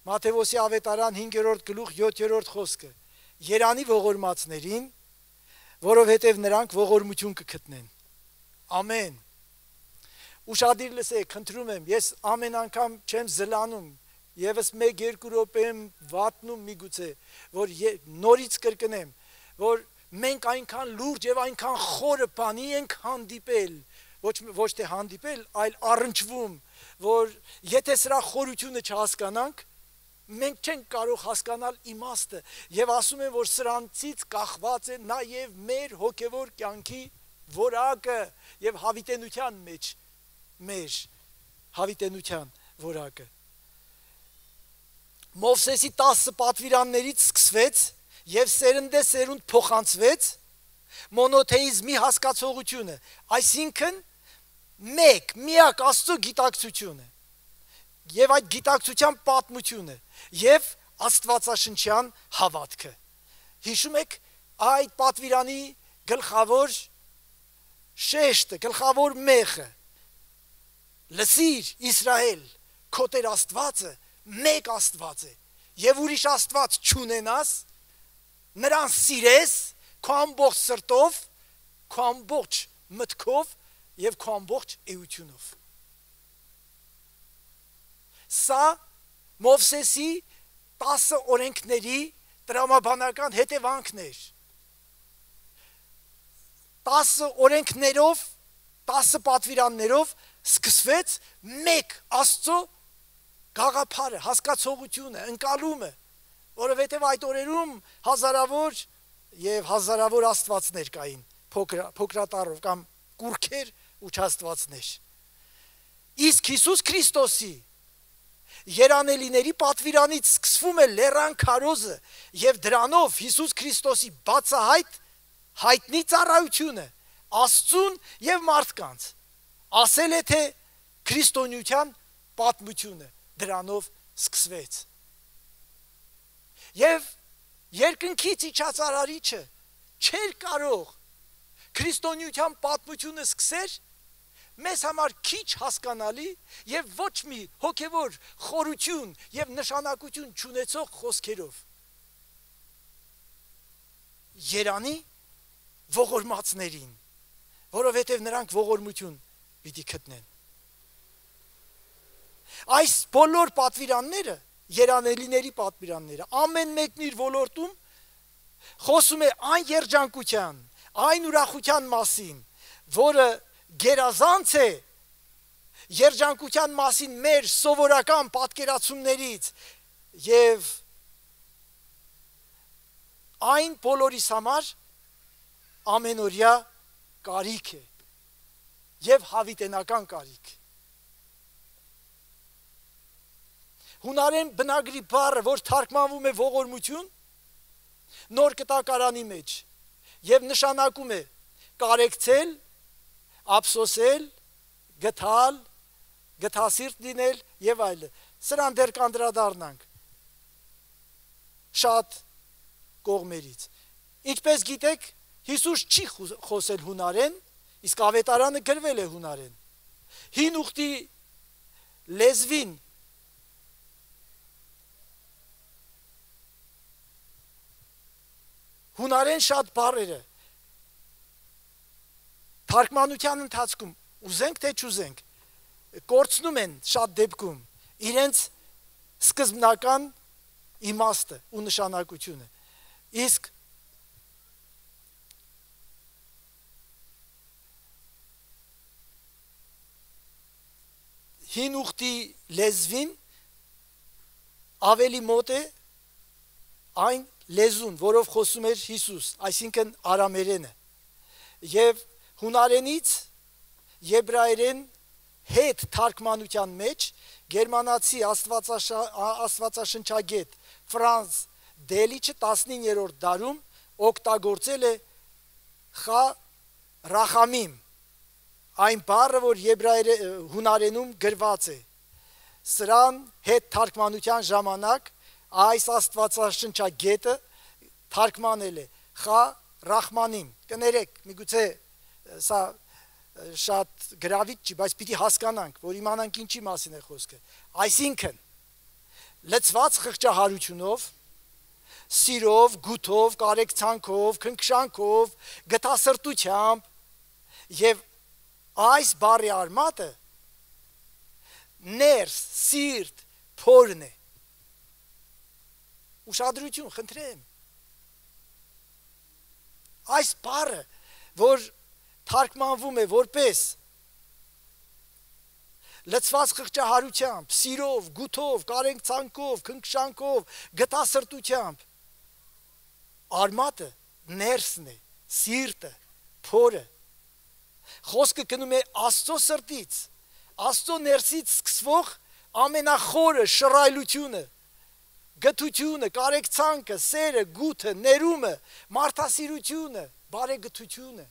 Մատթեոսի ավետարան 5-րդ գլուխ 7-րդ խոսքը. Երանի ողորմածներին, որովհետև նրանք ողորմություն կգտնեն։ Ամեն։ Ուշադիր լսեք, խնդրում եմ, ես ամեն անգամ չեմ զլանում, եւս 1-2 րոպե եմ վատնում միգուցե, որ նորից կրկնեմ, որ մենք այնքան լուրջ եւ այնքան խորը բանի ենք հանդիպել, ոչ թե հանդիպել, այլ առնչվում, որ եթե սրա խորությունը չհասկանանք, մենք չենք կարող հասկանալ իմաստը եւ ասում են, որ սրանցից կախված է նաեւ մեր հոգեվոր կյանքի որակը եւ հավիտենության մեջ մեր հավիտենության որակը։ Մովսեսի 10 պատվիրաններից սկսվեց եւ սերնդեսերունդ փոխանցվեց մոնոթեիզմի հասկացողությունը, այսինքն միակ Աստծո գիտակցությունը եւ այդ գիտակցության պատմությունը եւ աստվածաշնչյան հավատքը։ Հիշում եք այդ պատվիրանի գլխավոր շեշտը, գլխավոր մեխը, լսիր Իսրայել, քո Տեր Աստվածը մեկ Աստված է եւ ուրիշ Աստված չունենաս, նրան սիրես քո ամբողջ սրտով, քո ամբողջ մտքով եւ քո ամբողջ էությունով։ Սա Մովսեսի 10 օրենքների տրամաբանական հետևանքն էր։ 10 օրենքներով, 10 պատվիրաններով սկսվեց մեկ Աստծո գաղափարը, հասկացողությունը, ընկալումը, որովհետև այդ օրերում հազարավոր եւ հազարավոր աստվածներ կային, փոքրատառով կամ կուրքեր участвածներ։ Իսկ Հիսուս Քրիստոսի երանելիների պատվիրանից սկսվում է լեռան քարոզը եւ դրանով Հիսուս Քրիստոսի բացահայտ հայտնի ծառայությունը Աստծուն եւ մարդկանց։ Ասել է թե քրիստոնեության պատմությունը դրանով սկսվեց։ Եվ երկնքից իջած արարիչը չէր կարող քրիստոնեության պատմությունը սկսեր մեզ համար քիչ հասկանալի եւ ոչ մի հոգեվոր խորություն եւ նշանակություն չունեցող խոսքերով։ Երանի ողորմածներին, որովհետև նրանք ողորմություն պիտի գտնեն։ Այս բոլոր պատվիրանները, երանելիների պատվիրանները, ամեն մեկն իր ոլորտում խոսում է այն երջանկության, այն ուրախության մասին, որը գերազանց է երջանկության մասին մեր սովորական պատկերացումներից եւ այն բոլորիս համար ամենօրյա կարիք է եւ հավիտենական կարիք։ Հունարեն բնագրի բառը, որ թարգմանվում է ողորմություն, նոր կտակարանի մեջ եւ նշանակում է կարեկցել, ափսոսել, գթալ, գթասիրտ լինել եւ այլն։ Սրան դեռ կանդրադառնանք շատ կողմերից։ Ինչպես գիտեք, Հիսուս չի խոսել հունարեն, իսկ ավետարանը գրվել է հունարեն։ Հին ուխտի լեզվին հունարեն շատ բառերը թարգմանության ընթացքում ուզենք թե չուզենք կորցնում են շատ դեպքում իրենց սկզբնական իմաստը ու նշանակությունը։ Իսկ հին ուխտի լեզվին ավելի մոտ է այն լեզուն, որով խոսում էր Հիսուս, այսինքն արամերենը, եւ հունարենից եբրայերեն հետ թարգմանության մեջ գերմանացի աստվածաշնչագետ Ֆրանց Դելիչը 19-րդ դարում օգտագործել է խա ռախամիմ, այն բառը, որ հունարենում գրված է։ Սրան հետ թարգմանության ժամանակ այս աստվածաշնչագետը թարգմանել է խա ռախմանիմ։ Կներեք, միգուցե սա շատ գրավիչ չի, բայց պիտի հասկանանք, որ իմանանք ինչի մասին է խոսքը։ Այսինքն լցված խղճահարությունով, սիրով, գութով, կարեկցանքով, քնքշանքով, գտասրտությամբ եւ այս բառի արմատը ներս, սիրտ, փորն է։ Ուշադրություն, խնդրեմ։ Այս բառը, որ թարգմանվում է որպես լցված խղճահարությամբ, սիրով, գութով, կարեկցանքով, քնքշանքով, գտասրտությամբ, արմատը ներսն է, սիրտը, փորը։ Խոսքը գնում է Աստծո սրտից, Աստծո ներսից սկսվող ամենախորը շռայլությունը, գթությունը, կարեկցանքը, սերը, գութը, ներումը, մարդասիրությունը, բարեգթությունը։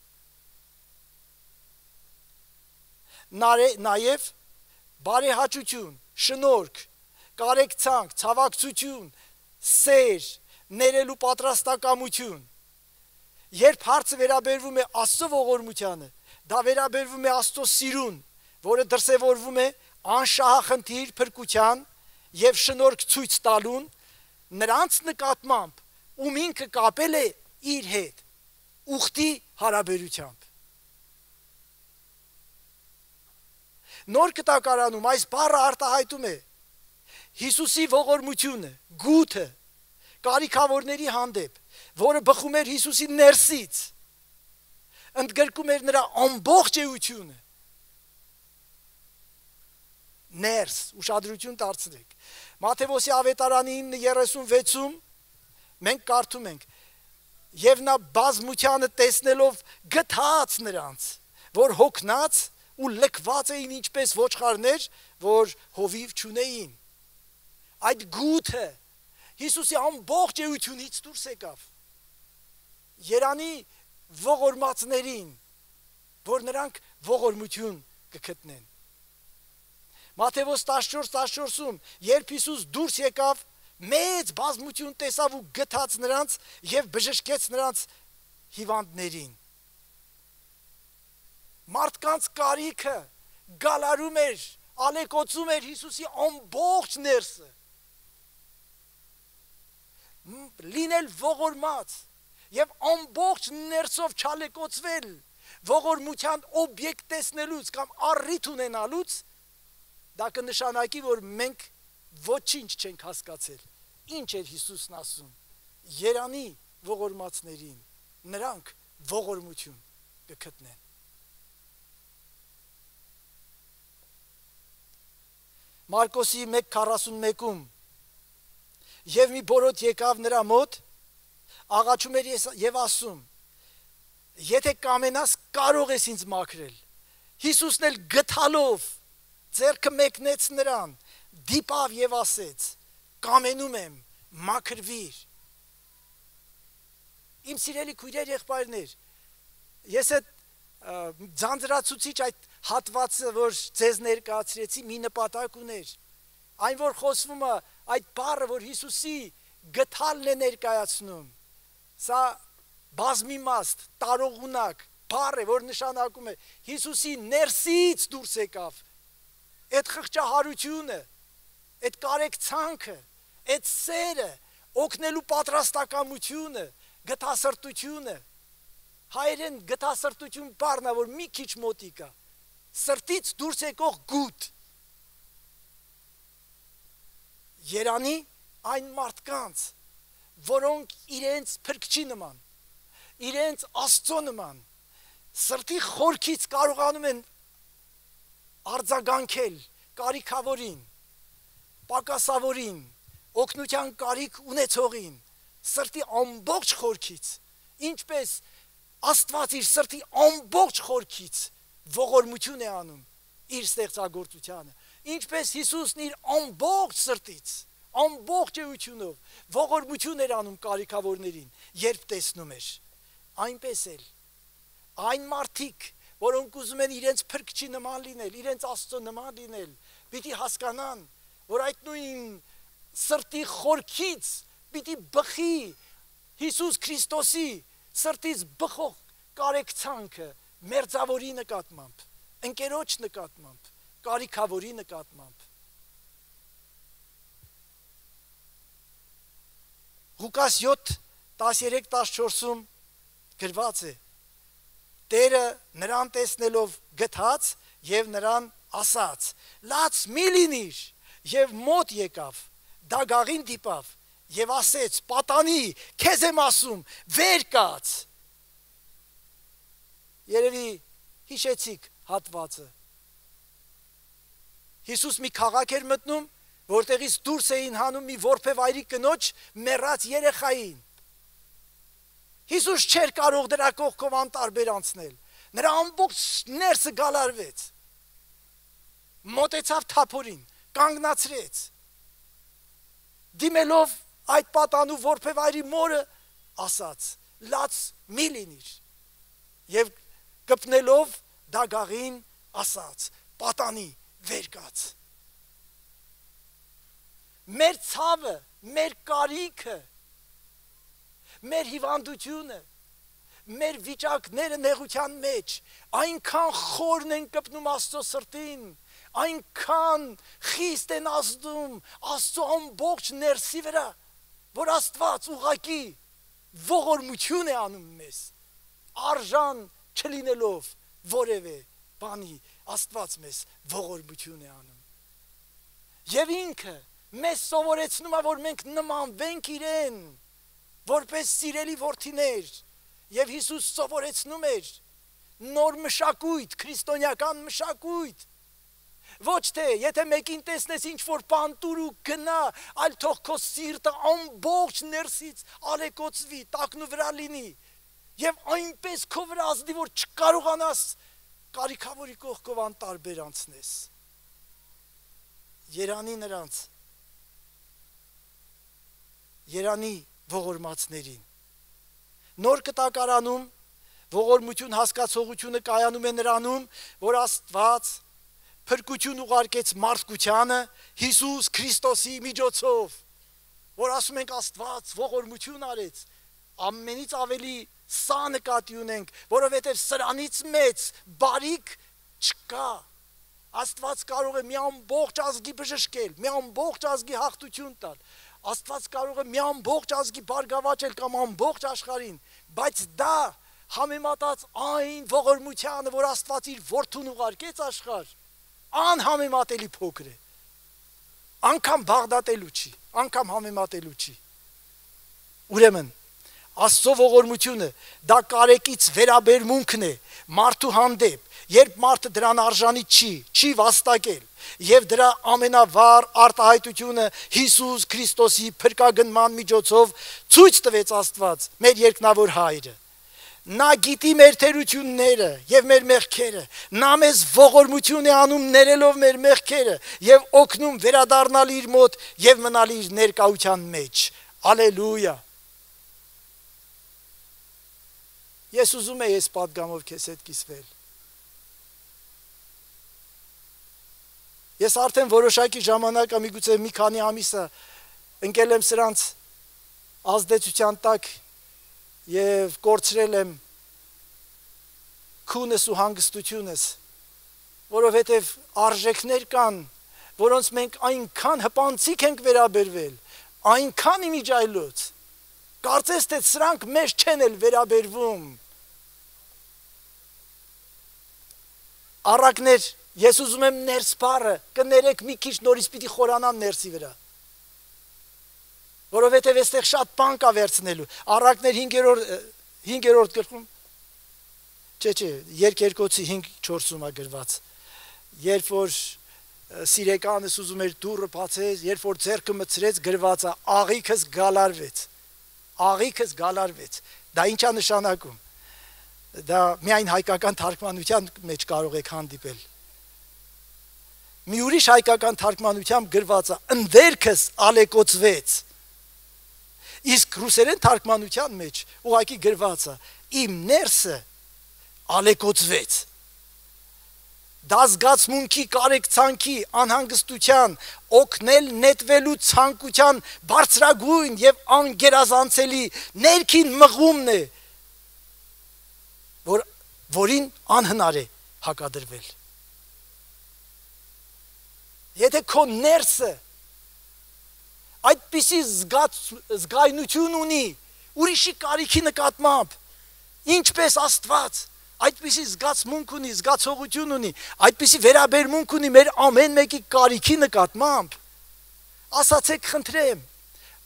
Նաև բարեհաճություն, շնորհք, կարեկցանք, ցավակցություն, սեր, ներելու պատրաստակամություն։ Երբ հարցը վերաբերվում է Աստծո ողորմությանը, դա վերաբերվում է Աստծո սիրուն, որը դրսևորվում է անշահախնդիր փրկության եւ շնորհք ցույց տալուն նրանց նկատմամբ, ում ինքը կապել է իր հետ, ուխտի հարաբերությամբ։ Նոր Կտակարանում այս բառը արտահայտում է Հիսուսի ողորմությունը, գութը, կարիքավորների հանդեպ, որը բխում էր Հիսուսի ներսից, ընդգրկում էր նրա ամբողջ էությունը։ Ներս, ուշադրություն դարձրեք։ Մատթեոսի ավետարանի 9:36-ում մենք կարդում ենք. եւ նա բազմությանը տեսնելով գթաց նրանց, որ հոգնած ու լքված էին ինչպես ոչխարներ, որ հովիվ չունեին։ Այդ գութը Հիսուսի ամբողջ էությունից դուրս եկավ։ Երանի ողորմածներին, որ նրանք ողորմություն կգտնեն։ Մատթեոս 14:14-ում, երբ Հիսուս դուրս եկավ, մեծ բազմություն տեսավ ու գթաց նրանց եւ բժշկեց նրանց հիվանդներին։ Մարդկանց կարիքը գալարում էր, ալեկոծում էր Հիսուսի ամբողջ ներսը։ Լինել ողորմած եւ ամբողջ ներսով չալեկոծվել ողորմության օբյեկտ տեսնելուց կամ առիթ ունենալուց, դա կնշանակի, որ մենք ոչինչ չենք հասկացել։ Ինչ էր Հիսուսն ասում։ Երանի ողորմածներին, նրանք ողորմություն կգտնեն։ Մարկոսի 1:41-ում եւ մի բորոտ եկավ նրա մոտ, աղաչում էր եւ ասում. եթե կամենաս, կարող ես ինձ մաքրել։ Հիսուսն էլ գթալով ձեռքը մեկնեց նրան, դիպավ եւ ասեց. կամենում եմ, մաքրվիր։ Իմ սիրելի քույրեր, եղբայրներ, ես այդ ձանձրացուցիչ այդ հատվածը, որ ձեզ ներկայացրեցի, մի նպատակ ուներ։ Այն, որ խոսվում է այդ բառը, որ Հիսուսի գթալն է ներկայացնում, սա բազմիմաստ, տարողունակ բառ է, որ նշանակում է Հիսուսի ներսից դուրս եկավ այդ խղճահարությունը, այդ կարեկցանքը, այդ սերը, օգնելու պատրաստակամությունը, գթասրտությունը։ Հայերեն գթասրտություն բառն է, որ մի քիչ մոտիկ է, սրտից դուրս եկող գութ։ Երանի այն մարդկանց, որոնք իրենց փրկչի նման, իրենց Աստծո նման, սրտի խորքից կարողանում են արձագանքել կարիքավորին, պակասավորին, օգնության կարիք ունեցողին, սրտի ամբողջ խորքից, ինչպես Աստված իր սրտի ամբողջ խորքից ողորմություն է անում իր ստեղծագործությանը, ինչպես Հիսուսն իր ամբողջ սրտից, ամբողջ էությունով ողորմություն էր անում կարիքավորներին, երբ տեսնում էր, այնպես էլ այն մարդիկ, որոնք ուզում են իրենց փրկչի նման լինել, իրենց Աստծո նման լինել, պիտի հասկանան, որ այդ նույն սրտի խորքից պիտի բխի Հիսուս Քրիստոսի սրտից բխող կարեկցանքը մերձավորի նկատմամբ, ընկերոջ նկատմամբ, կարիքավորի նկատմամբ։ Ղուկաս 7:13-14-ում գրված է. Տերը նրան տեսնելով գթած եւ նրան ասաց. լաց մի լինիր, եւ մոտ եկավ, դագաղին դիպավ եւ ասեց. պատանի, քեզ եմ ասում, վեր կաց։ Երևի հիշեցիք հատվածը։ Հիսուս մի քաղաք էր մտնում, որտեղից դուրս էին հանում մի որբևայրի կնոջ մեռած երեխային։ Հիսուս չէր կարող դրա կողքով անտարբեր անցնել։ Նրա ամբողջ ներսը գալարվեց։ Մոտեցավ թափորին, կանգնացրեց։ Դիմելով այդ պատանու որբևայրի մորը ասաց. լաց մի լինիր։ Եվ կպնելով դագաղին ասաց. պատանի, վեր կաց։ Մեր ցավը, մեր կարիքը, մեր հիվանդությունը, մեր վիճակները նեղության մեջ այնքան խորն են կպնում Աստծո սրտին, այնքան խիստ են ազդում Աստծո ամբողջ ներսի վրա, որ Աստված ուղղակի ողորմություն է անում մեզ, արժան չլինելով որևէ բանի, Աստված մեզ ողորմություն է անում։ Եվ ինքը մեզ սովորեցնում է, որ մենք նմանվենք իրեն, որպես սիրելի որդիներ, եւ Հիսուս սովորեցնում էր նոր մշակույթ, քրիստոնեական մշակույթ։ Ոչ թե եթե մեկին տեսնես ինչ որ բան տուր ու գնա, այլ թող քո սիրտը ամբողջ ներսից ալեկոծվի, տակնու վրա լինի եւ այնպես քո վրա ազդի, որ չկարողանաս կարիքավորի կողքով անտարբեր անցնես։ Երանի նրանց, երանի ողորմածներին։ Նոր կտակարանում ողորմություն հասկացողությունը կայանում է նրանում, որ Աստված փրկություն ուղարկեց մարդկությանը Հիսուս Քրիստոսի միջոցով, որ ասում ենք Աստված ողորմություն արեց, ամենից ավելի սա նկատի ունենք, որովհետև սրանից մեծ բարիք չկա։ Աստված կարող է մի ամբողջ ազգի բժշկել, մի ամբողջ ազգի հաղթություն տալ, Աստված կարող է մի ամբողջ ազգի բարգավաճել կամ ամբողջ աշխարհին, բայց դա համեմատած այն ողորմությանը, որ Աստված իր որդուն ուղարկեց աշխարհ, անհամեմատելի փոքր է։ Անկամ բաղդատելու չի, անկամ համեմատելու չի։ Ուրեմն Աստծո ողորմությունը դա կարեկից վերաբերմունքն է մարդու հանդեպ, երբ մարդը դրան արժանի չի վաստակել, եւ դրա ամենավառ արտահայտությունը Հիսուս Քրիստոսի փրկագնման միջոցով ցույց տվեց Աստված, մեր երկնավոր Հայրը։ Նա գիտի մեր թերությունները եւ մեր մեղքերը, նա մեզ ողորմություն է անում ներելով մեր մեղքերը եւ օգնում վերադառնալ իր մոտ եւ մնալ իր ներկայության մեջ։ Ալելույա։ Ես ուզում եմ այս պատգամով քեզ հետ կիսվել։ Ես արդեն որոշակի ժամանակ, միգուցե մի քանի ամիսը ընկել եմ սրանց ազդեցության տակ եւ կորցրել եմ քունս ու հանգստությունս, որովհետեւ արժեքներ կան, որոնց մենք այնքան հպանցիկ ենք վերաբերվել, այնքան իմիջայլոց, կարծես թե սրանք մեզ չեն էլ վերաբերվում։ Առակներ, ես ուզում եմ ներս բառը կներեք մի քիչ նորից պիտի խորանամ ներսի վրա, որովհետև այստեղ շատ բան կա վերցնելու։ Առակներ 5-րդ գլխում, չէ, Երկերկոցի 5:4-ում է գրված, երբ որ սիրեկանս ուզում էր դուռը բացել, երբ որ ձեռքը մտցրեց, գրված է աղիքս գալարվեց։ Դա ինչ է նշանակում։ Դա միայն հայկական թարգմանության մեջ կարող եք հանդիպել։ Մի ուրիշ հայկական թարգմանությամբ գրված է ընդերքս ալեկոծվեց։ Իսկ ռուսերեն թարգմանության մեջ ուղղակի գրված է իմ ներսը ալեկոծվեց։ Դա զգացմունքի, կարեկցանքի, անհանգստության, օգնել նետվելու ցանկության բարձրագույն եւ անգերազանցելի ներքին մղումն է, որին անհնար է հակադրվել։ Եթե քո ներսը այդպիսի զգայնություն ունի ուրիշի կարիքի նկատմամբ, ինչպես Աստված, այդպիսի զգացմունք ունի, զգացողություն ունի, այդպիսի վերաբերմունք ունի մեր ամեն մեկի կարիքի նկատմամբ, ասացեք խնդրեմ,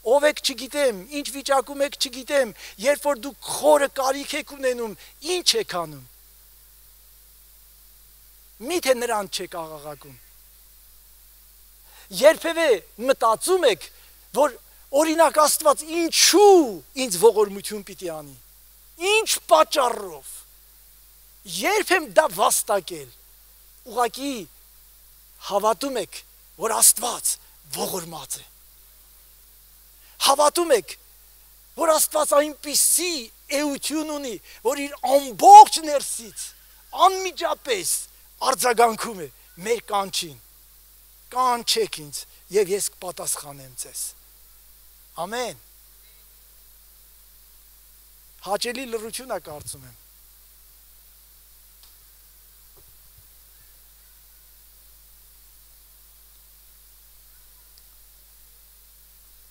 ով եք չգիտեմ, ինչ վիճակում եք չգիտեմ, երբ որ դուք խորը կարիք եք ունենում, ինչ եք անում, միթե նրան չեք աղաղակում, երբևէ մտածում եք, որ օրինակ Աստված ինչու ինձ ողորմություն պիտի անի, ինչ պատճառով, երբ եմ դա վաստակել, ուղղակի հավատում եք, որ Աստված ողորմած է, հավատում եք, որ Աստված այնպիսի էություն ունի, որ իր ամբողջ ներսից, անմիջապես արձագանքում է մեր կանչին, կանչեք ինձ և ես կպատասխանեմ ձեզ, ամեն, հաճելի լռություն է կարծում եմ,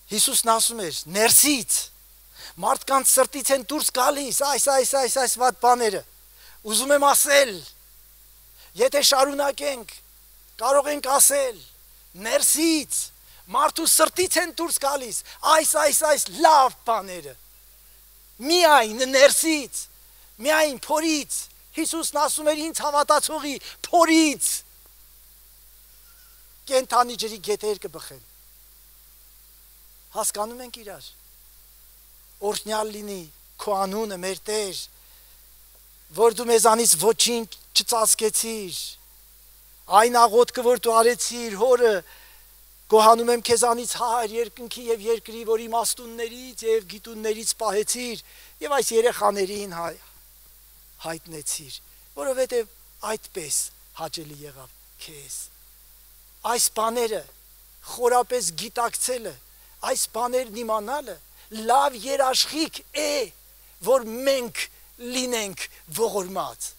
Հիսուսն ասում էր, ներսից, մարդկանց սրտից են դուրս գալիս, այս վատ բաները, ուզում եմ ասել, եթե շարունակենք, կարող ենք ասել, ներսից, մարդու սրտից են դուրս գալիս, այս լավ բաները, միայն ներսից, միայն փորից, Հիսուսն ասում էր ինձ հավատացողի փորից, կենդանի ջրի գետեր կբխեն, հասկանում ենք իրար, օրհնյալ լինի քո անունը մեր Տեր, որ դու մեզանից ոչինչ չծածկեցիր, այն աղոթքը, որ դու արեցիր, հորը, գոհանում եմ քեզանից Հայր երկնքի և երկրի, որ իմաստուններից և գիտուններից պահեցիր և այս երեխաներին հայտնեցիր, որովհետև այդպես հաճելի եղավ քեզ, այս բաները խորապես գիտակցելը, այս բաներն իմանալը լավ երաշխիք է, որ մենք լինենք ողորմած։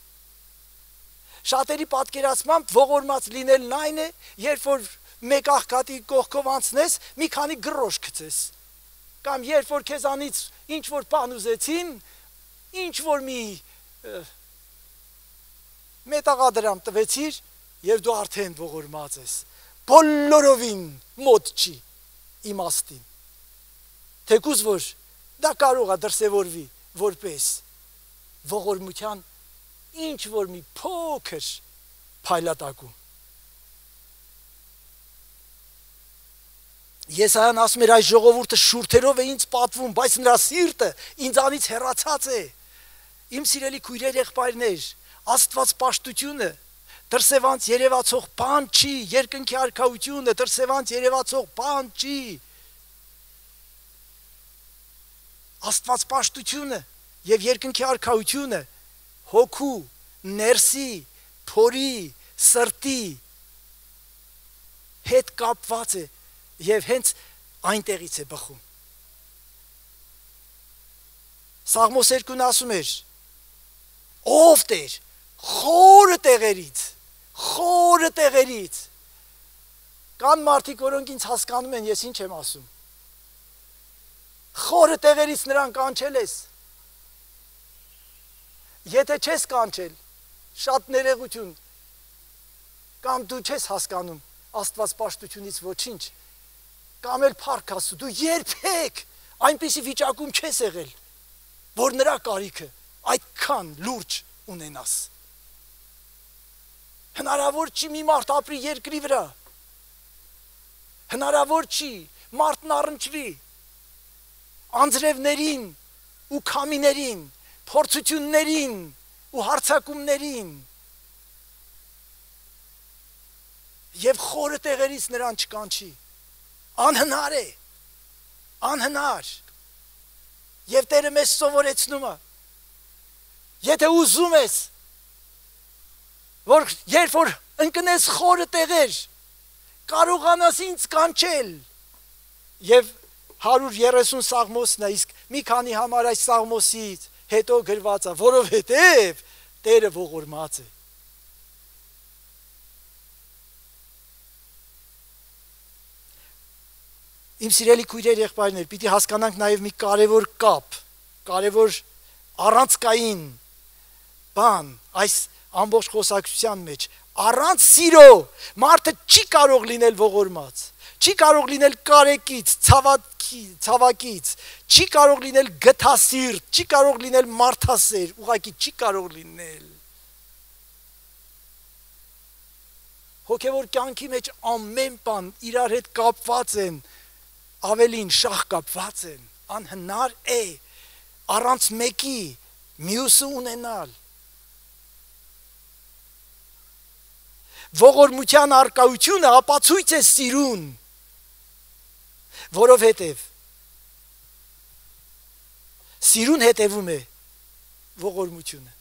Շատերի պատկերացմամբ ողորմած լինելն այն է, երբ որ մեկ աղքատի կողքով անցնես, մի քանի գրոշ գցես, կամ երբ որ քեզանից ինչ որ բան ուզեցին, ինչ որ մի մետաղադրամ տվեցիր և դու արդեն ողորմած ես, բոլորովին մոտ չի իմաստին, թեկուզ որ դա կարող է դրսևորվի որպես ողորմության ինչ որ մի փոքր փայլատակում։ Եսայան ասում էր այս ժողովուրդը շուրթերով է ինձ պատվում, բայց նրա սիրտը ինձանից հեռացած է։ Իմ սիրելի քույրեր, եղբայրներ, Աստված պաշտությունը դրսևանց երևացող բան չի, երկնքի արքայությունը դրսևանց երևացող բան չի։ Աստված պաշտությունը և երկնքի արքայությունը հոգու, ներսի, փորի, սրտի հետ կապված է և հենց այնտեղից է բխում։ Սաղմոս 2-ն ասում էր, ով Տեր, խորը տեղերից, կան մարդիկ, որոնք ինձ հասկանում են, ես ինչ եմ ասում, խորը տեղերից նրան կանչել ես, եթե չես կանչել, շատ ներողություն, կամ դու չես հասկանում Աստված պաշտությունից ոչինչ, կամ էլ փառք Աստծու, դու երբեք այնպիսի վիճակում չես եղել, որ նրա կարիքը այդքան լուրջ ունենաս։ Հնարավոր չի մի մարդ ապրի երկրի վրա, հնարավոր չի մարդն առնչվի անձրևներին ու քամիներին, փորձություններին ու հարձակումներին և խորը տեղերից նրան չկանչի, անհնար է, անհնար, և Տերը մեզ սովորեցնում է, եթե ուզում ես, որ երբ որ ընկնես խորը տեղեր, կարողանաս ինձ կանչել, և 130 սաղմոսն է, իսկ մի քանի համար այս սաղմոսից հետո գրված է, որովհետև Տերը ողորմած է։ Իմ սիրելի քույրեր, եղբայրներ, պիտի հասկանանք նաև մի կարևոր կապ, կարևոր առանցքային բան այս ամբողջ խոսակցության մեջ։ Առանց սիրո մարդը չի կարող լինել ողորմած, չի կարող լինել կարեկից, ցավակից, չի կարող լինել գթասիրտ, չի կարող լինել մարդասեր, ուղղակի չի կարող լինել։ Հոգևոր կյանքի մեջ ամեն բան իրար հետ կապված են, ավելին շահ կապված են, անհնար է առանց մեկի մյուսը ունենալ։ Ողորմության արկայությունը ապացույց է սիրուն, որովհետև սիրուն հետևում է ողորմությունը։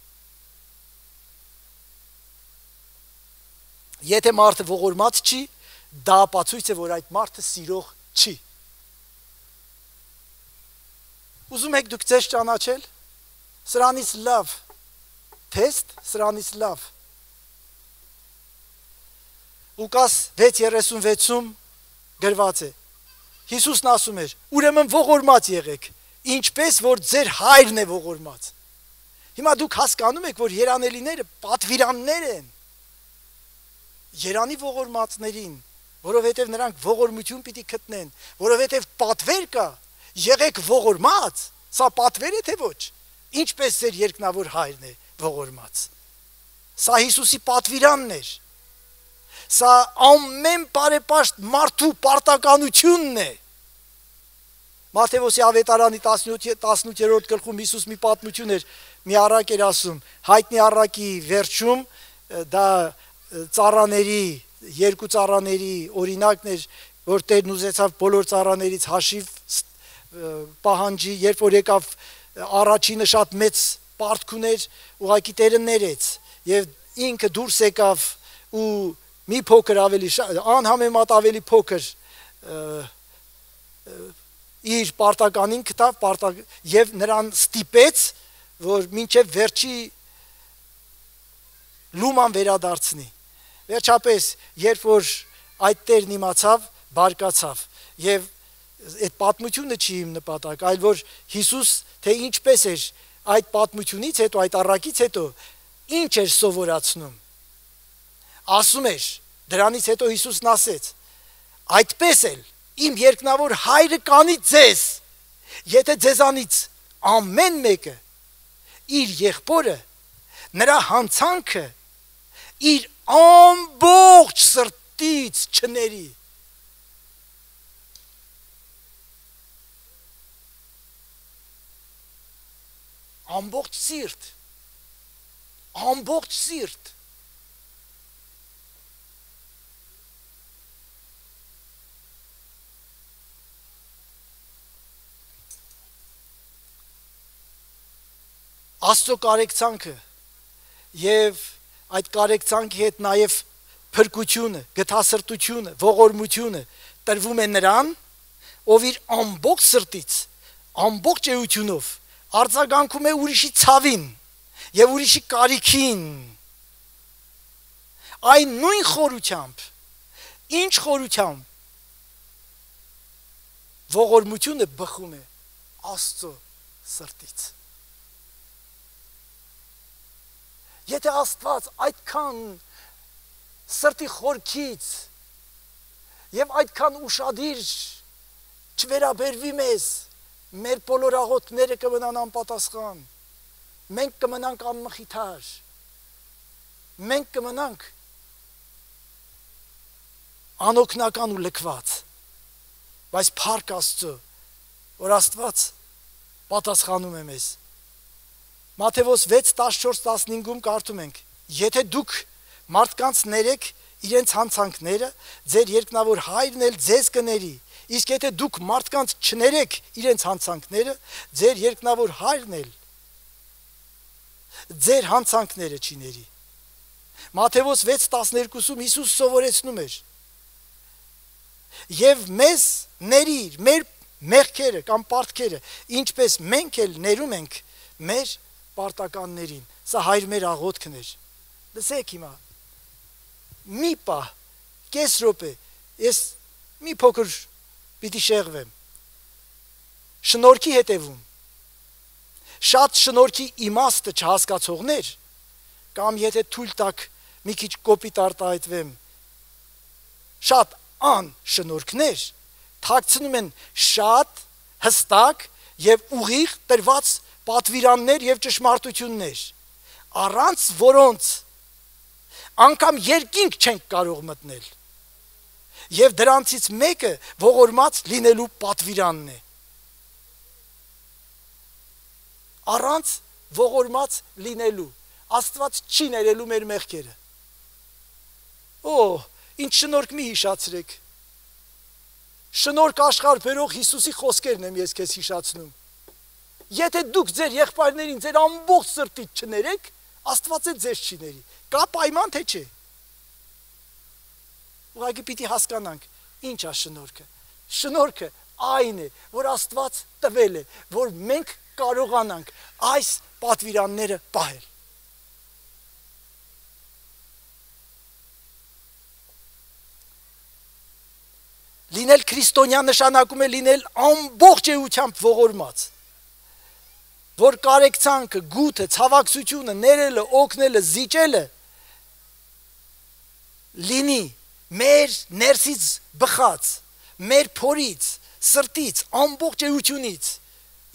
Եթե մարդը ողորմած չի, դա ապացույց է, որ այդ մարդը սիրող չի։ Ուզում եք դուք ձեզ ճանաչել, սրանից լավ թեստ, սրանից լավ Լուկաս 6:36-ում գրված է։ Հիսուսն ասում էր. ուրեմն ողորմած եղեք, ինչպես որ ձեր հայրն է ողորմած։ Հիմա դուք հասկանում եք, որ երանելիները պատվիրաններ են Երանի ողորմածներին, որովհետև նրանք ողորմություն պիտի գտնեն, որովհետև պատվեր կա, եղեք ողորմած, սա պատվեր է թե ոչ, ինչպես ձեր երկնավոր հայրն է ողորմած։ Սա Հիսուսի պատվիրանն էր։ Սա ամեն բարեպաշտ մարդու պարտականությունն է։ Մատթեոս ավետարանի 18-րդ գլխում Հիսուս մի պատմություն էր, մի առակ էր ասում, հայտնի առակի վերջում դա ծառաների, երկու ծառաների օրինակն էր, որ Տերն ուզեցավ բոլոր ծառաներից հաշիվ պահանջի, երբ որ եկավ առաջինը շատ մեծ պարտք ուներ, ուղղակի Տերը ներեց եւ ինքը դուրս եկավ ու մի փոքր ավելի անհամեմատ ավելի փոքր իր պարտականին գտավ եւ նրան ստիպեց, որ մինչեւ վերջի լուման վերադարձնի։ Վերջապես, երբ որ այդ Տերն իմացավ, բարկացավ եւ այդ պատմությունը չի իմ նպատակ, այլ որ Հիսուս թե ինչպես էր այդ պատմությունից հետո, այդ առակից հետո ինչ էր սովորացնում։ Ասում էր, դրանից հետո Հիսուսն ասեց. այդպես էլ իմ երկնավոր հայրը կանի ձեզ, եթե ձեզանից ամեն մեկը իր եղբորը, նրա հանցանքը իր ամբողջ սրտից չների։ Ամբողջ սիրտ, ամբողջ սիրտ։ Աստծո կարեկցանքը եւ այդ կարեկցանքի հետ նաեւ փրկությունը, գթասրտությունը, ողորմությունը տրվում է նրան, ով իր ամբողջ սրտից, ամբողջ էությունով արձագանքում է ուրիշի ցավին եւ ուրիշի կարիքին։ Այն նույն խորությամբ, ինչ խորությամբ ողորմությունը բխում է Աստծո սրտից։ Եթե Աստված այդքան սրտի խորքից եւ այդքան ուշադիր չվերաբերվի մեզ, մեր բոլոր աղոթքները կմնան անպատասխան, մենք կմնանք անմխիթար, մենք կմնանք անօգնական ու լքված, բայց փառք Աստծո, որ Աստված պատասխանում է մեզ։ Մատթեոս 6:14-15-ում կարդում ենք. եթե դուք մարդկանց ներեք իրենց հանցանքները, ձեր երկնավոր հայրն էլ ձեզ կների, իսկ եթե դուք մարդկանց չներեք իրենց հանցանքները, ձեր երկնավոր հայրն էլ ձեր հանցանքները չի ների։ Մատթեոս 6:12-ում Հիսուս սովորեցնում էր. եւ մեզ ներիր մեր մեղքերը կամ պարտքերը, ինչպես մենք էլ ներում ենք մեր պարտականներին։ Սա հայր մեր աղոթքն էր։ Լսեք հիմա, մի պահ, կես րոպե, ես մի փոքր պիտի շեղվեմ։ Շնորհքի հետևում։ Շատ շնորհքի իմաստը չհասկացողներ, կամ եթե թույլ տաք մի քիչ կոպիտ արտահայտվեմ, շատ անշնորհքներ թաքցնում են շատ հստակ եւ ուղիղ տրված պատվիրաններ եւ ճշմարտություններ, առանց որոնց անգամ երկինք չենք կարող մտնել։ Եվ դրանցից մեկը ողորմած լինելու պատվիրանն է։ Առանց ողորմած լինելու Աստված չի ներելու մեր մեղքերը։ Ինչ շնորհք մի հիշացրեք։ Շնորհք աշխարհ բերող Հիսուսի խոսքերն եմ ես քեզ հիշացնում։ Եթե դուք ձեր եղբայրներին ձեր ամբողջ սրտից չներեք, Աստված էլ ձեզ չի ների։ Կա պայման թե չէ։ Ուղղակի պիտի հասկանանք ինչ է շնորհքը։ Շնորհքը այն է, որ Աստված տվել է, որ մենք կարողանանք այս պատվիրանները պահել։ Լինել քրիստոնյա նշանակում է լինել ամբողջ էությամբ ողորմած, որ կարեկցանքը, գութը, ցավակցությունը, ներելը, օգնելը, զիջելը լինի մեր ներսից բխած, մեր փորից, սրտից, ամբողջ էությունից,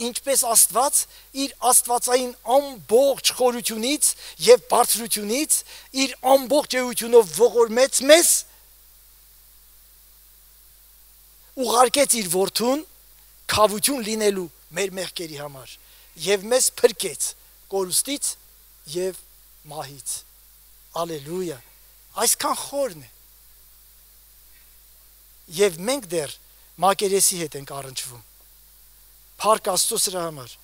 ինչպես Աստված իր աստվածային ամբողջ խորությունից եւ բարձրությունից իր ամբողջ էությունով ողորմեց մեզ, ուղարկեց իր որդուն քավություն լինելու մեր մեղքերի համար եւ մեզ փրկեց կորուստից եւ մահից։ Ալելույա։ Այսքան խորն է։ Եվ մենք դեռ մակերեսի հետ ենք առնչվում։ Փառք Աստծո սրա համար։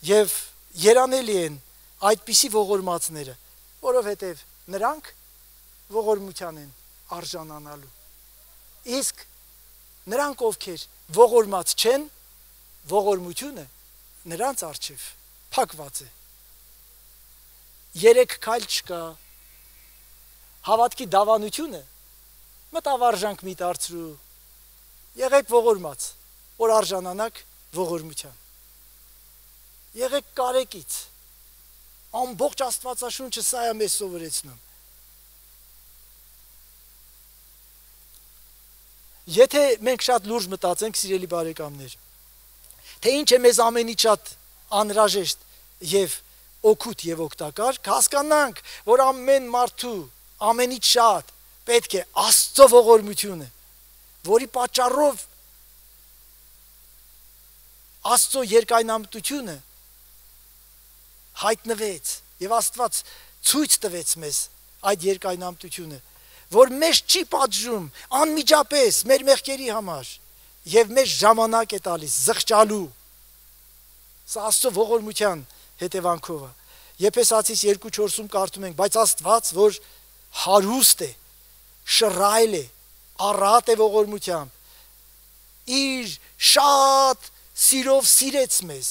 Եվ երանելի են այդպիսի ողորմածները, որովհետև նրանք ողորմության են արժանանալու։ Իսկ նրանք, ովքեր ողորմած չեն, ողորմությունը նրանց առջև փակված է։ Երեք քայլ չկա։ Հավատքի դավանությունը մտավարժանք մի դարձրու։ Եղեք ողորմած, որ արժանանաք ողորմության։ Եղեք կարեկից։ Ամբողջ Աստվածաշունչը սա է մեզ սովորեցնում։ Եթե մենք շատ լուրջ մտածենք, սիրելի բարեկամներ, թե ինչ է մեզ ամենից շատ անհրաժեշտ եւ օգուտ եւ օգտակար, հասկանանք, որ ամեն մարդու ամենից շատ պետք է Աստծո ողորմությունը, որի պատճառով Աստծո երկայնամտությունը հայտնվեց եւ Աստված ցույց տվեց մեզ այդ երկայնամտությունը, որ մեզ չի պատժում անմիջապես մեր մեղքերի համար եւ մեզ ժամանակ է տալիս զղջալու։ Սա Աստծո ողորմության հետևանքով է։ Եփեսացիս 2:4-ում կարդում ենք, բայց Աստված, որ հարուստ է, շռայլ է, առատ է ողորմությամբ, իր շատ սիրով սիրեց մեզ,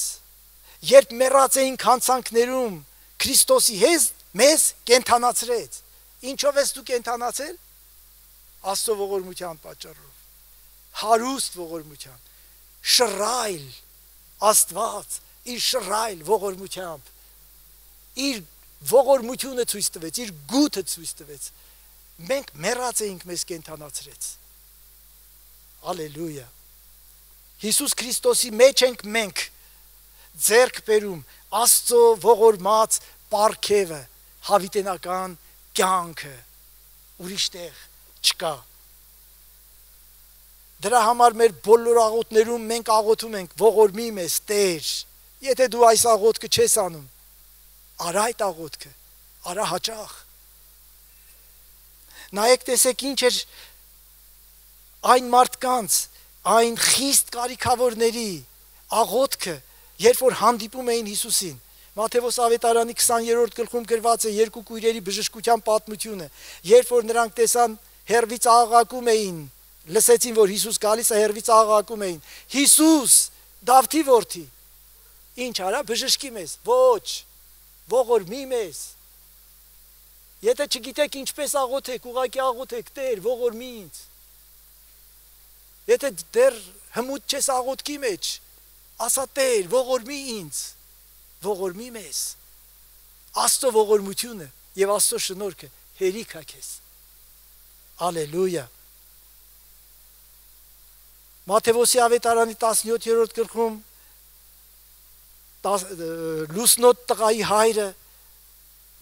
երբ մեռած էինք հանցանքներում, Քրիստոսի հետ մեզ կենդանացրեց։ Ինչով ես դու կենդանացել? Աստծո ողորմության պատճառով, հարուստ ողորմության, շռայլ Աստված իր շռայլ ողորմությամբ, իր ողորմությունը ցույց տվեց, իր գութը ցույց տվեց։ Մենք մեռած էինք, մեզ կենդանացրեց։ Ալելույա։ Հիսուս Քրիստոսի մեջ ենք մենք ձեռք բերում Աստծո ողորմած պարգևը, հավիտենական կյանքը, ուրիշ տեղ չկա։ Դրա համար մեր բոլոր աղոթներում մենք աղոթում ենք, ողորմի մեզ Տեր։ Եթե դու այս աղոթքը չես անում, արա այդ աղոթքը, արա հաճախ։ Նայեք, տեսեք ինչ էր այն մարդկանց, այն խիստ կարիքավորների աղոթքը, երբ որ հանդիպում էին Հիսուսին։ Մատթեոս ավետարանի 20-րդ գլխում գրված է երկու կույրերի բժշկության պատմությունը, երբ որ նրանք տեսան հեռվից աղաղակում էին, լսեցին, որ Հիսուս գալիս է, հեռվից աղաղակում էին. Հիսուս, Դավթի որդի, ինչ արա, բժշկի մեզ։ Ոչ, ողորմի մեզ։ Եթե չգիտեք ինչպես աղոթեք, ուղղակի աղոթեք, Տեր, ողորմի ինձ։ Եթե դեռ հմուտ չես աղոթքի մեջ, ասա Տեր, ողորմի ինձ, ողորմի մեզ։ Աստծո ողորմությունը եւ Աստծո շնորհքը հերիք է քեզ։ Ալելույա։ Մատթեոսի ավետարանի 17-րդ գլխում լուսնոտ տղայի հայրը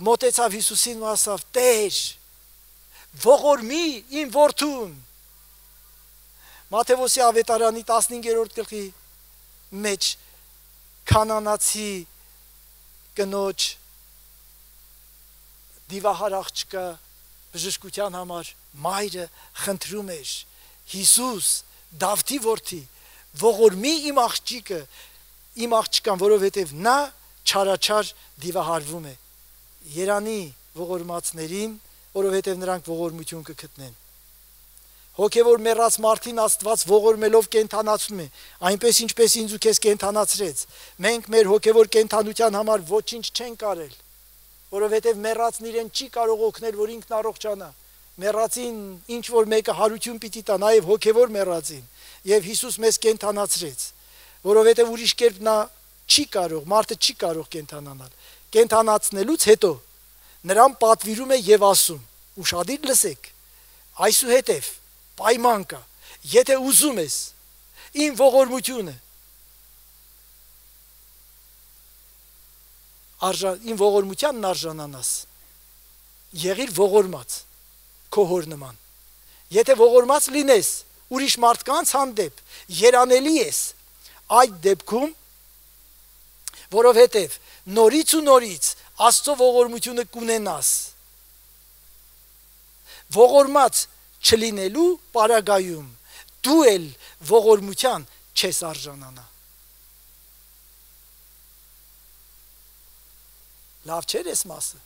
մոտեցավ Հիսուսին ու ասավ. Տեր, ողորմի իմ որդուն։ Մատթեոսի ավետարանի 15-րդ գլխի մեջ կանանացի կնոջ դիվահար աղջկա բժշկության համար մայրը խնդրում էր. Հիսուս, Դավթի որդի, ողորմի իմ աղջկան, որովհետև նա չարաչար դիվահարվում է։ Երանի ողորմածներին, որովհետև նրանք ողորմություն կգտնեն։ Հոգևոր մեռած մարդին Աստված ողորմելով կենթանացնում է, այնպես ինչպես ինձ ու քեզ կենթանացրեց։ Մենք մեր հոգևոր կենթանության համար ոչինչ չենք արել, որովհետև մեռածն իրեն չի կարող օգնել, որ ինքն առողջանա։ Մեռածին ինչ որ մեկը հարություն պիտի տա, նաև հոգևոր մեռածին, եւ Հիսուս մեզ կենթանացրեց, որովհետև ուրիշ կերպ նա չի կարող, մարդը չի կարող կենթանանալ։ Կենթանացնելուց հետո նրան պատվիրում է եւ ասում. ուշադիր լսեք, այսուհետև պայման կա, եթե ուզում ես իմ ողորմությունը, իմ ողորմությանն արժանանաս, եղիր ողորմած քո հոր նման։ Եթե ողորմած լինես ուրիշ մարդկանց հանդեպ, երանելի ես այդ դեպքում, որովհետև նորից ու նորից Աստծո ողորմությունը կունենաս։ Ողորմած չլինելու պարագայում դու էլ ողորմության չես արժանանա։ Լավ չէր այս մասը։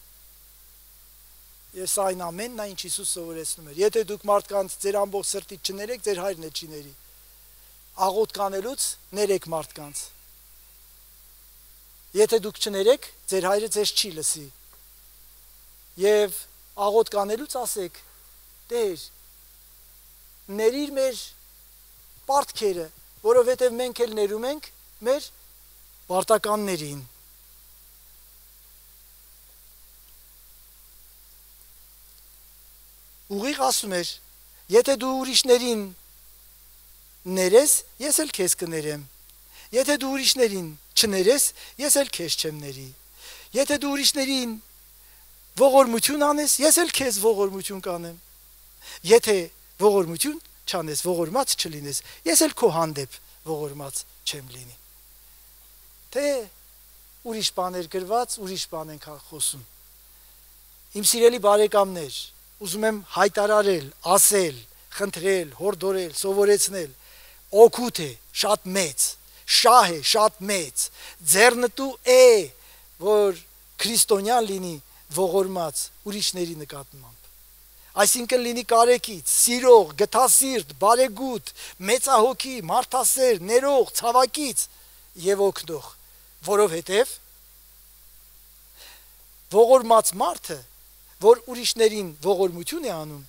Ես այն ամենն այն ինչ Հիսուս սովորեցնում էր։ Եթե դուք մարդկանց ձեր ամբողջ սրտից չներեք, ձեր հայրն էլ չի ների։ Աղոթք անելուց ներեք մարդկանց։ Եթե դուք չներեք, ձեր հայրը ձեզ չի լսի։ Եվ աղոթք անելուց ասեք. Տեր, ներիր մեր պարտքերը, որովհետև մենք էլ ներում ենք մեր պարտականներին։ Ուղիղ ասում էր. եթե դու ուրիշներին ներես, ես էլ քեզ կներեմ։ Եթե դու ուրիշներին չներես, ես էլ քեզ չեմ ների։ Եթե դու ուրիշներին ողորմություն անես, ես էլ քեզ ողորմություն կանեմ։ Եթե ողորմություն չանես, ողորմած չլինես, ես էլ քո հանդեպ ողորմած չեմ լինի։ Թե ուրիշ բաներ գրված, ուրիշ բան ենք խոսում։ Իմ սիրելի բարեկամներ, ուզում եմ հայտարարել, ասել, խնդրել, հորդորել, սովորեցնել, օգուտ է շատ մեծ, շահ է շատ մեծ, ձեռնտու է, որ քրիստոնյան լինի ողորմած ուրիշների նկատմամբ։ Այսինքն լինի կարեկից, սիրող, գթասիրտ, բարեգութ, մեծահոգի, մարդասեր, ներող, ցավակից եւ օգնող, որովհետեւ ողորմած մարդը, որ ուրիշներին ողորմություն է անում,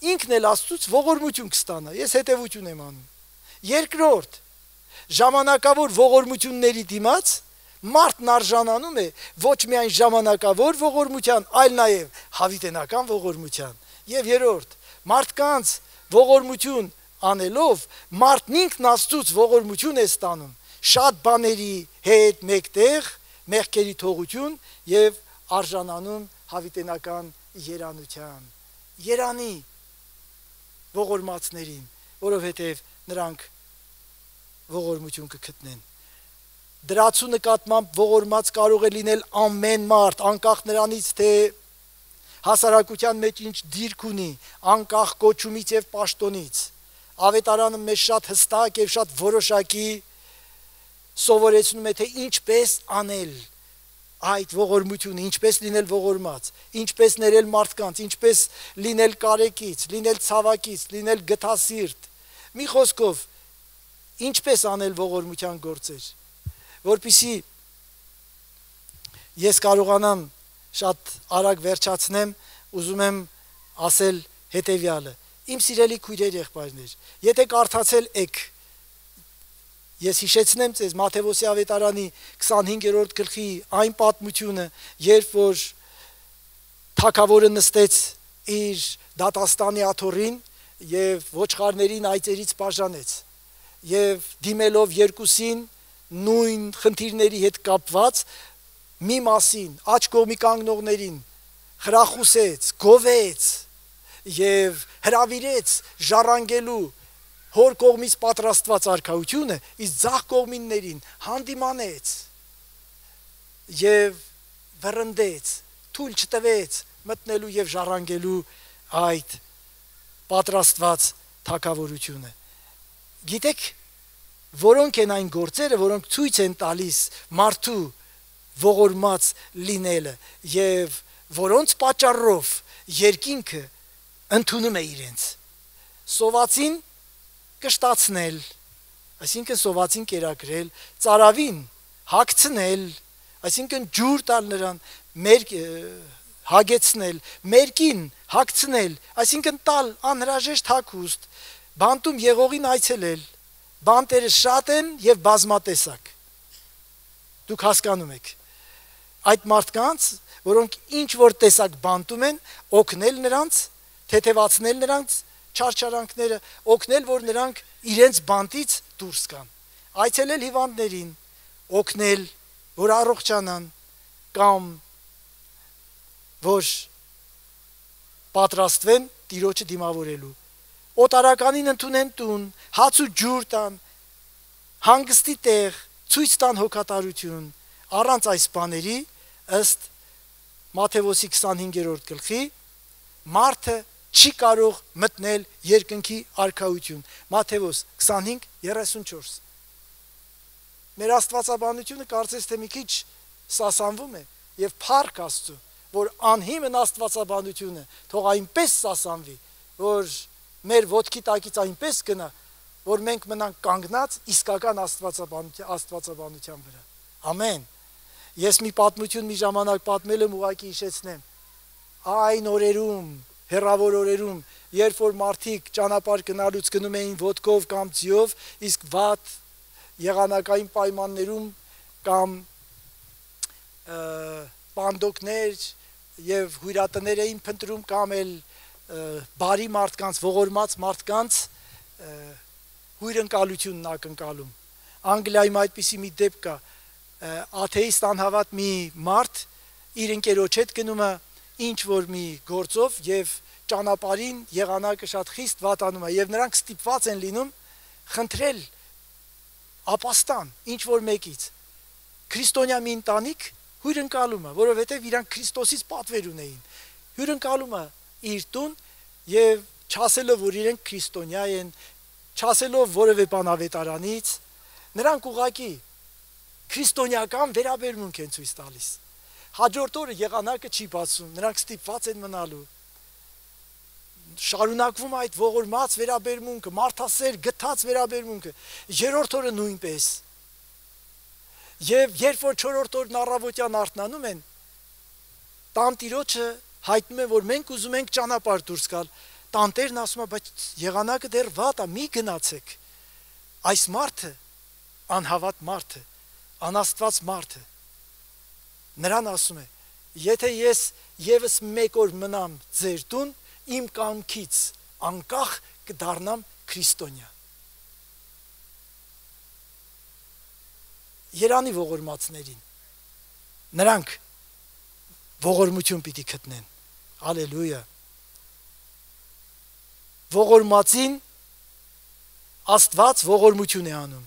ինքն էլ Աստծուց ողորմություն կստանա։ Ես հետևություն եմ անում։ Երկրորդ, ժամանակավոր ողորմությունների դիմաց մարդն արժանանում է ոչ միայն ժամանակավոր ողորմության, այլ նաև հավիտենական ողորմության։ Եվ երրորդ, մարդկանց ողորմություն անելով մարդն ինքն Աստծուց ողորմություն է ստանում, շատ բաների հետ մեկտեղ մեղքերի թողություն եւ արժանանում հավիտենական երանության։ Երանի ողորմածներին, որովհետև նրանք ողորմություն կգտնեն։ Դրացու նկատմամբ ողորմած կարող է լինել ամեն մարդ, անկախ նրանից, թե հասարակության մեջ ինչ դիրք ունի, անկախ կոչումից եւ պաշտոնից։ Ավետարանը մեզ շատ հստակ եւ շատ որոշակի սովորեցնում է, թե ինչպես անել այդ ողորմությունը, ինչպես լինել ողորմած, ինչպես ներել մարդկանց, ինչպես լինել կարեկից, լինել ցավակից, լինել գթասիրտ։ Մի խոսքով, ինչպես անել ողորմության գործեր, որպեսզի ես կարողանամ շատ արագ վերջացնեմ, ուզում եմ ասել հետևյալը. Իմ սիրելի քույրեր, եղբայրներ, եթե կարդացել եք, ես հիշեցնեմ ձեզ Մատթեոս ավետարանի 25-րդ գլխի այն պատմությունը, երբ որ թագավորը նստեց իր դատաստանի աթոռին եւ ոչխարներին այծերից բաժանեց եւ դիմելով երկուսին նույն խնդիրների հետ կապված մի մասին աջ կողմի կանգնողներին խրախուսեց, գովեց եւ հրավիրեց ժառանգելու հոր կողմից պատրաստված արքայությունը, իսկ ձախ կողմիններին հանդիմանեց եւ վռնդեց, թույլ չտվեց մտնելու եւ ժառանգելու այդ պատրաստված թագավորությունը։ Գիտեք, որոնք են այն գործերը, որոնք ցույց են տալիս մարդու ողորմած լինելը եւ որոնց պատճառով երկինքը ընդունում է իրենց։ Սովածին կշտացնել, այսինքն սովածին կերակրել, ծարավին հագցնել, այսինքն ջուր տալ նրան, հագեցնել, մերկին հագցնել, այսինքն տալ անհրաժեշտ հագուստ, բանտում եղողին այցելել, բանտերը շատ են եւ բազմատեսակ։ Դուք հասկանում եք, այդ մարդկանց, որոնք ինչ որ տեսակ բանտում են, օգնել նրանց, թեթևացնել նրանց չարչարանքները, օգնել, որ նրանք իրենց բանտից դուրս գան, այցելել հիվանդներին, օգնել, որ առողջանան, կամ որ պատրաստվեն Տիրոջը դիմավորելու, օտարականին ընդունեն տուն, հաց ու ջուր տան, հանգստի տեղ, ցույց տան հոգատարություն, առանց այս բաների ըստ Մատթեոսի 25-րդ գլխի մարդը չի կարող մտնել երկնքի արքայություն։ Մատթեոս 25:34։ Մեր աստվածաբանությունը կարծես թե մի քիչ սասանվում է եւ փառք Աստծո, որ անհիմն աստվածաբանությունը թող այնպես սասանվի, որ մեր ոտքի տակից այնպես գնա, որ մենք մնանք կանգնած իսկական աստվածաբանության վրա։ Ամեն։ Ես մի պատմություն մի ժամանակ պատմել եմ, ուղղակի հիշեցնեմ։ Այն օրերում, հեռավոր օրերում, երբ որ մարդիկ ճանապարհ գնալուց գնում էին ոտքով կամ ձիով, իսկ վատ եղանակային պայմաններում կամ պանդոկներ եւ հյուրատներ էին փնտրում կամ էլ բարի մարդկանց, ողորմած մարդկանց հյուրընկալությունն ակնկալում։ Անգլիայում այդպիսի մի դեպք կա, աթեիստ անհավատ մի մարդ իր ընկերոջ հետ գնում է ինչ որ մի գործով եւ ճանապարհին եղանակը շատ խիստ վատանում է եւ նրանք ստիպված են լինում խնդրել ապաստան ինչ որ մեկից քրիստոնյա մի ընտանիք հյուրընկալում է, որովհետեւ իրանք Քրիստոսից պատվեր ունեին, հյուրընկալում է իր տուն եւ չասելով որ իրենք քրիստոնյա են, չասելով որևէ բան ավետարանից, նրանք ուղակի քրիստոնեական վերաբերմունք են ցույց տալիս։ Հաջորդ օրը եղանակը չի բացում, նրանք ստիպված են մնալու։ Շարունակվում է այդ ողորմած վերաբերմունքը, մարդասեր գթած վերաբերմունքը։ Երրորդ օրը նույնպես։ Եվ երբ որ չորրորդ օրն առավոտյան արթնանում են, տանտիրոջը հայտնում է, որ մենք ուզում ենք ճանապարհ դուրս գալ։ Տանտերն ասում է, բայց եղանակը դեռ վատ է, մի գնացեք։ Այս մարդը, անհավատ մարդը, անաստված մարդը, նրան ասում է, եթե ես եւս մեկ օր մնամ ձեր տուն, իմ կամքից անկախ կդառնամ քրիստոնյա։ Երանի ողորմածներին, նրանք ողորմություն պիտի գտնեն, ալելույա, ողորմածին Աստված ողորմություն է անում,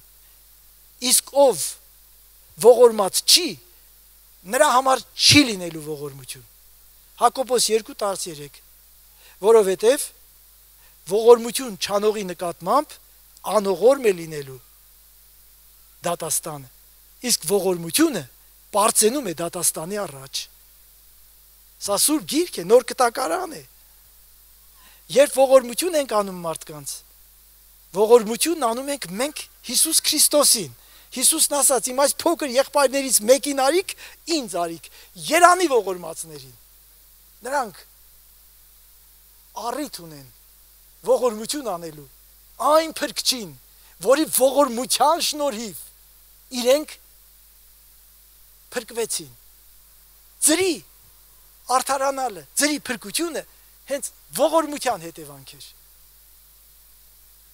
իսկ ով ողորմած չի, նրա համար չի լինելու ողորմություն, Հակոբոս 2:13, որովհետև ողորմություն չանողի նկատմամբ անողորմ է լինելու դատաստանը, իսկ ողորմությունը բարձենում է դատաստանի առաջ։ Սա սուրբ գիրք է, նոր կտակարան է։ Երբ ողորմություն ենք անում մարդկանց, ողորմությունն անում ենք մենք Հիսուս Քրիստոսին։ Հիսուսն ասաց, իմ այս փոքր եղբայրներից մեկին արիք, ինձ արիք, երանի ողորմածներին։ Նրանք առիթ ունեն ողորմություն անելու, այն փրկչին, որի ողորմության շնորհիվ իրենք փրկվեցին։ Ձրի արդարանալը, ձրի փրկությունը հենց ողորմության հետևանք էր։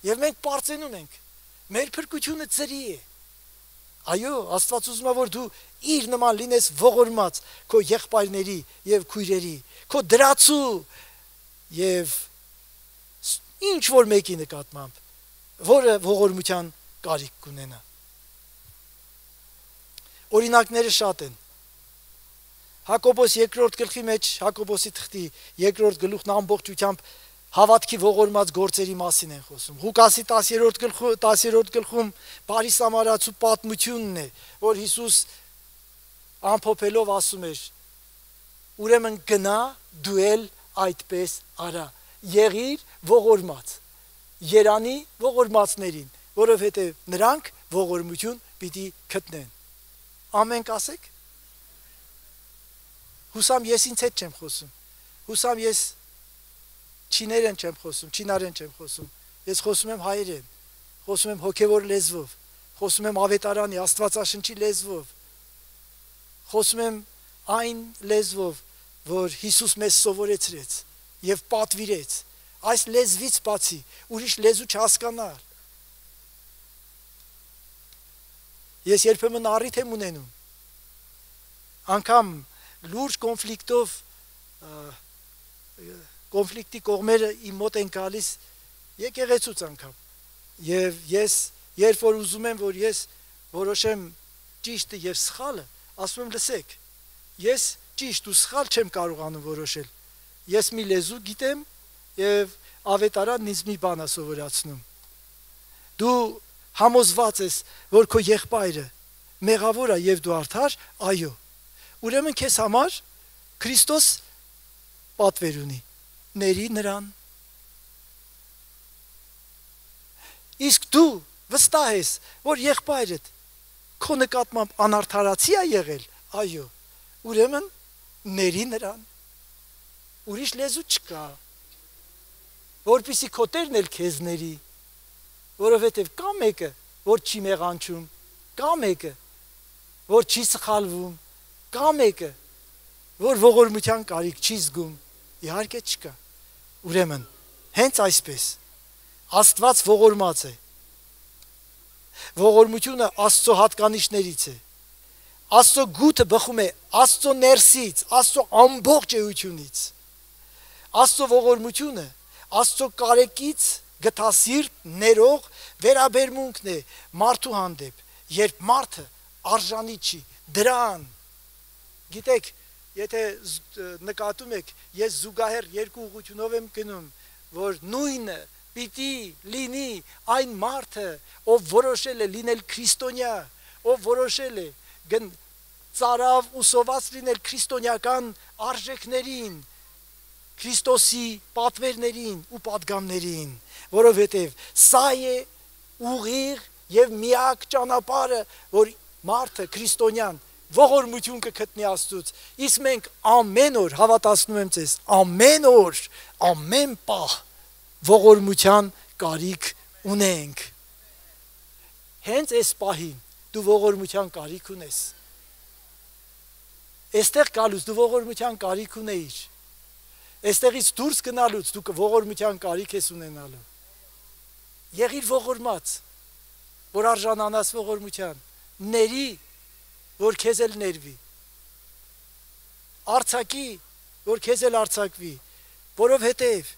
Եվ մենք պարծենում ենք, մեր փրկությունը ձրի է։ Այո, Աստված ուզում է, որ դու իր նման լինես ողորմած քո եղբայրների եւ քույրերի, քո դրացու եւ ինչ որ մեկի նկատմամբ, որը ողորմության կարիք կունենա։ Օրինակները շատ են։ Հակոբոս 2-րդ գլխի մեջ, Հակոբոսի թղթի 2-րդ գլուխն ամբողջությամբ հավատքի ողորմած գործերի մասին են խոսում։ Ղուկասի 10-րդ գլխում Բարի Սամարացու պատմությունն է, որ Հիսուս ամփոփելով ասում էր. ուրեմն գնա դու էլ այդպես արա, եղիր ողորմած, երանի ողորմածներին, որովհետև նրանք ողորմություն պիտի գտնեն։ Ամեն կասեք։ Հուսամ ես ինձ հետ չեմ խոսում։ Հուսամ ես չիներեն չեմ խոսում, չինարեն չեմ խոսում։ Ես խոսում եմ հայերեն, խոսում եմ հոգևոր լեզվով, խոսում եմ ավետարանի, Աստվածաշնչի լեզվով, խոսում եմ այն լեզվով, որ Հիսուս մեզ սովորեցրեց եւ պատվիրեց։ Այս լեզվից բացի ուրիշ լեզու չհասկանալ։ Ես երբեմն առիթ եմ ունենում անգամ լուրջ կոնֆլիկտի կողմերը իմ մոտ են գալիս եկեղեցուց անգամ, եւ ես երբ որ ուզում եմ, որ ես որոշեմ ճիշտը եւ սխալը, ասում եմ լսեք, ես ճիշտ ու սխալ չեմ կարողանում որոշել, ես մի լեզու գիտեմ եւ ավետարանն ինձ մի բան է սովորացնում, դու համոզված ես, որ քո եղբայրը մեղավոր է եւ դու արդար, այո, ուրեմն քեզ համար Քրիստոս պատվեր ունի, ների նրան։ Իսկ դու վստահ ես, որ եղբայրդ քո նկատմամբ անարդարացի է եղել, այո, ուրեմն ների նրան։ Ուրիշ լեզու չկա, որպեսզի քո Տերն էլ քեզ ների, որովհետև կա մեկը, որ չի մեղանչում, կա մեկը, որ չի սխալվում, կա մեկը, որ ողորմության կարիք չի զգում, իհարկե չկա։ Ուրեմն, հենց այսպես, Աստված ողորմած է, ողորմությունը Աստծո հատկանիշներից է, Աստծո գութը բխում է Աստծո ներսից, Աստծո ամբողջ էությունից, Աստծո ողորմությունը Աստծո կարեկից գթասիրտ ներող վերաբերմունքն է մարդու հանդեպ, երբ մարդը արժանի չի դրան։ Գիտեք, եթե նկատում եք, ես զուգահեռ երկու ուղղությունով եմ գնում, որ նույնը պիտի լինի այն մարդը, ով որոշել է լինել քրիստոնյա, ով որոշել է ծարավ ուսոված լինել քրիստոնյական արժեքներին, Քրիստոսի պատվերներին ու պատգամներին, որովհետև սա է ուղիղ եւ միակ ճանապարհը, որ մարդը քրիստոնյան ողորմություն կգտնի Աստծուց։ Իսկ մենք ամեն օր, հավատացնում եմ ձեզ, ամեն օր, ամեն պահ ողորմության կարիք ունենք։ Հենց այս պահին դու ողորմության կարիք ունես։ Այստեղ գալուց դու ողորմության կարիք ունեիր։ Այստեղից դուրս գնալուց դու ողորմության կարիք ես ունենալու։ Եղիր ողորմած, որ արժանանաս ողորմության, ների, որ քեզ էլ ներվի, արձակի, որ քեզ էլ արձակվի, որովհետև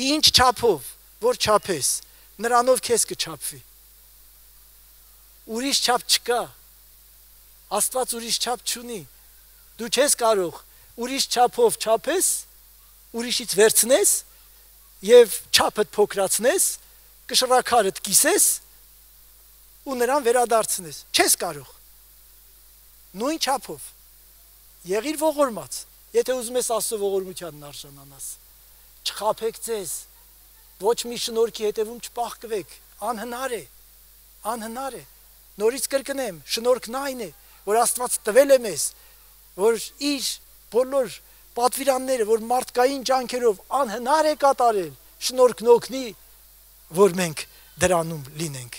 ինչ չափով, որ չափես, նրանով քեզ կչափվի։ Ուրիշ չափ չկա, Աստված ուրիշ չափ չունի, դու չես կարող ուրիշ չափով չափես, ուրիշից վերցնես եւ չափդ փոքրացնես, կշռակարդ կիսես ու նրան վերադարձնես։ Չես կարող։ Նույն չափով եղիր ողորմած, եթե ուզում ես Աստծո ողորմությանն արժանանաս։ Չխաբեք ձեզ, ոչ մի շնորհքի հետևում չպահկվեք, անհնար է, անհնար է։ Նորից կրկնեմ, շնորհքն այն է, որ Աստված տվել է մեզ, որ իր բոլոր պատվիրանները, որ մարդկային ջանքերով անհնար է կատարել, շնորհքն օգնի, որ մենք դրանում լինենք։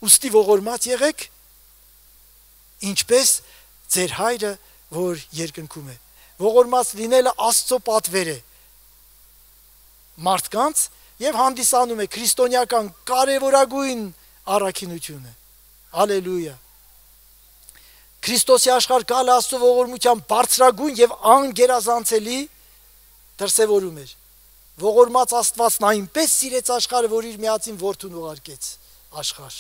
Ուստի ողորմած եղեք, ինչպես ձեր հայրը, որ երկնքում է։ Ողորմած լինելը Աստծո պատվեր է մարդկանց եւ հանդիսանում է քրիստոնեական կարևորագույն առաքինությունը։ Հալելույա։ Քրիստոսի աշխարհ գալը Աստծո ողորմության բարձրագույն եւ անգերազանցելի դրսևորում էր։ Ողորմած Աստվածն այնպես սիրեց աշխարհը, որ իր միածին որդուն ուղարկեց աշխարհ։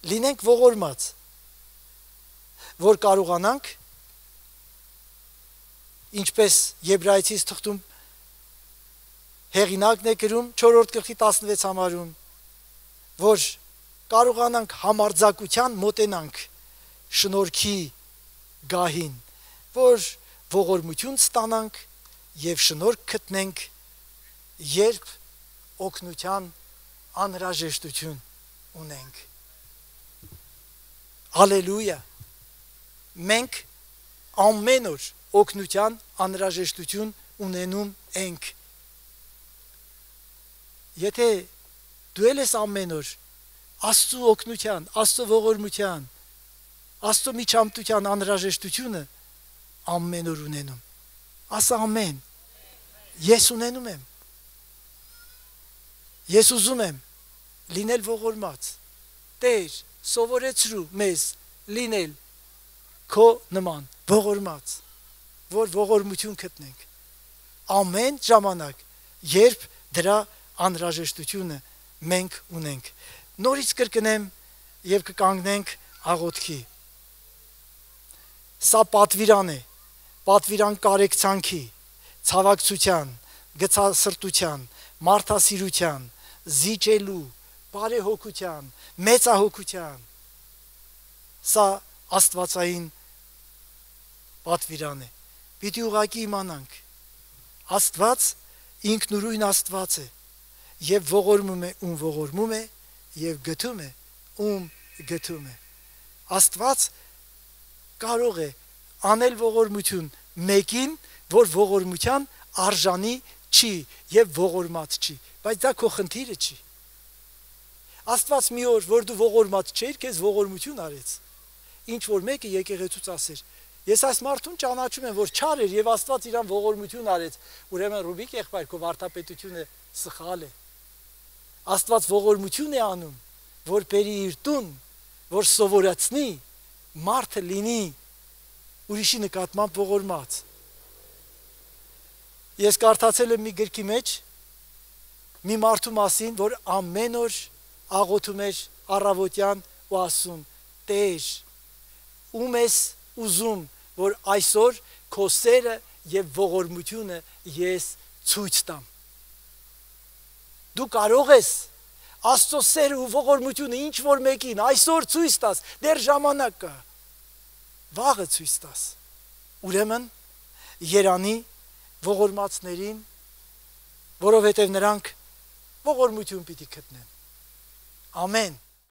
Լինենք ողորմած, որ կարողանանք, ինչպես Եբրայեցիս թղթում հեղինակն է գրում 4-րդ գլխի 16 համարում, որ կարողանանք համարձակության մոտենանք շնորհքի գահին, որ ողորմություն ստանանք եւ շնորհք գտնենք, երբ օգնության անհրաժեշտություն ունենք։ Հալելույա։ Մենք ամեն օր օգնության անհրաժեշտություն ունենում ենք։ Եթե դու ես ամեն օր Աստծո օգնության, Աստծո ողորմության, Աստծո միջամտության անհրաժեշտությունը ամեն օր ունենում։ Ասա ամեն։ Ես ունենում եմ։ Ես ուզում եմ լինել ողորմած։ Տեր, սովորեցրու մեզ լինել քո նման ողորմած, որ ողորմություն գտնենք ամեն ժամանակ, երբ դրա անհրաժեշտությունը մենք ունենք։ Նորից կրկնեմ եւ կկանգնենք աղոթքի։ Սա պատվիրան է, պատվիրան կարեկցանքի, ցավակցության, գցասրտության, մարդասիրության, զիջելու, բարեհոգության, մեծահոգության։ Սա աստվածային պատվիրան է։ Պիտի ուղղակի իմանանք, Աստված ինքնուրույն Աստված է եւ ողորմում է ում ողորմում է եւ գթում է ում գթում է։ Աստված կարող է անել ողորմություն մեկին, որ ողորմության արժանի չի եւ ողորմած չի, բայց դա քո խնդիրը չի։ Աստված մի օր, որ դու ողորմած չէիր, քեզ ողորմություն արեց։ Ինչ որ մեկը եկեղեցուց ասեր. ես այս մարդուն ճանաչում եմ, որ չար էր եւ Աստված իրան ողորմություն արեց, ուրեմն Ռուբիկ եղբայր, քո վարդապետությունը սխալ է։ Աստված ողորմություն է անում, որ բերի իր տուն, որ սովորացնի մարդը լինի ուրիշի նկատմամբ ողորմած։ Ես կարդացել եմ մի գրքի մեջ մի մարդու մասին, որ ամեն օր աղոթում էր առավոտյան ու ասում. Տեր, ում ես ուզում, որ այսօր քո սերը եւ ողորմությունը ես ցույց տամ։ Դու կարող ես Աստծո սերը ու ողորմությունը ինչ որ մեկին այսօր ցույց տաս, դեռ ժամանակ կա։ Վաղը ցույց տաս։ Ուրեմն երանի ողորմածներին, որովհետև նրանք ողորմություն պիտի գտնեն։ Ամեն։